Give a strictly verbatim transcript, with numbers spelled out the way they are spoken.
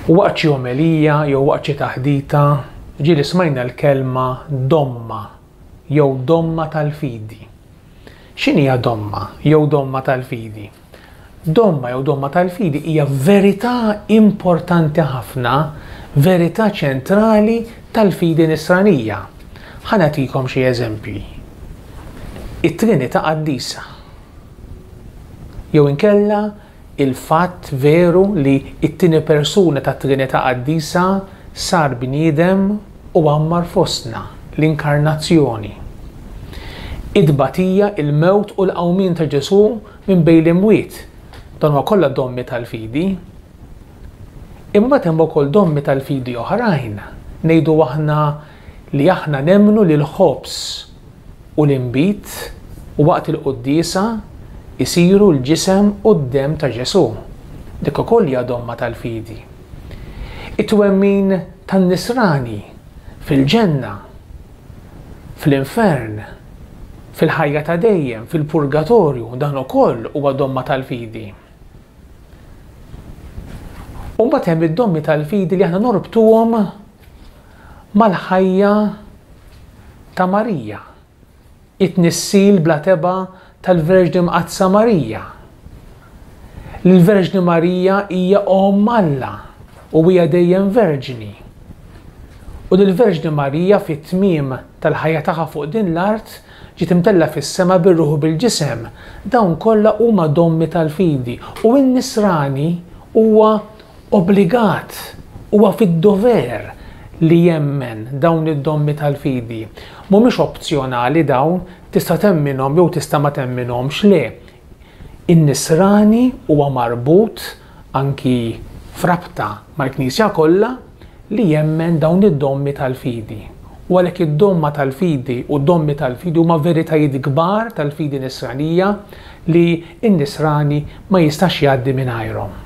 U waqt xi omelija jew waqt xi taħdita ġieli smajna l-kelma domma jew domma tal-fidi. X'inhija domma jew domma tal-fidi? Domma jew domma tal-fidi hija verità importanti ħafna, verità ċentrali tal-fidi nisranija. Ħa nagħtikom xi eżempji. It-Trinità Qaddisa. Jew inkella il-fatt veru li it-tieni persuna tat-Trinità Qaddisa sar bniedem u għammar fostna, l-inkarnazzjoni. It-tbatija, il-mewt u l-qawmien ta' Ġesù minn bejn l-imwiet. Dan huwa kollha dommi tal-fidi. Imma mbagħad hemm ukoll dommi tal-fidi oħrajn. Ngħidu aħna li aħna nemmnu li l-ħobż u l-inbid u waqt il-quddiesa isiru l-ġisem u d-demm ta' Ġesù. Dik ukoll hija domma tal-fidi. It-twemmin tan-nisrani fil-ġenna, fl-infern, fil-ħajja ta' dejjem, fil-purgatorju, dan ukoll huwa domma tal-fidi. U mbagħad hemm id-dommi tal-fidi li aħna norbtuhom mal-ħajja ta' Marija, it-tnissil bla tebgħa tal-Verġni Mqaddsa Marija. L-Verġni Marija hija Omm Alla u hija dejjem verġni. U l-Verġni Marija fit-tmiem tal-ħajja tagħha fuq din l-art ġiet imtella fis-sema bir-ruħ u bil-ġisem. Dawn kollha huma dommi tal-fidi u n-nisrani huwa obbligat, huwa fid-dover li jemmen dawn id-dommi tal-fidi. Mhumiex opzjonali dawn, tista' temminhom jew tista' ma temminhomx, le. In-nisrani huwa marbut anki frabta mal-Knisja kollha li jemmen dawn id-dommi tal-fidi. U għalhekk id-domma tal-fidi u d-dommi tal-fidi huma veritajiet kbar tal-fidi nisranija li n-nisrani ma jistax jgħaddi mingħajrhom.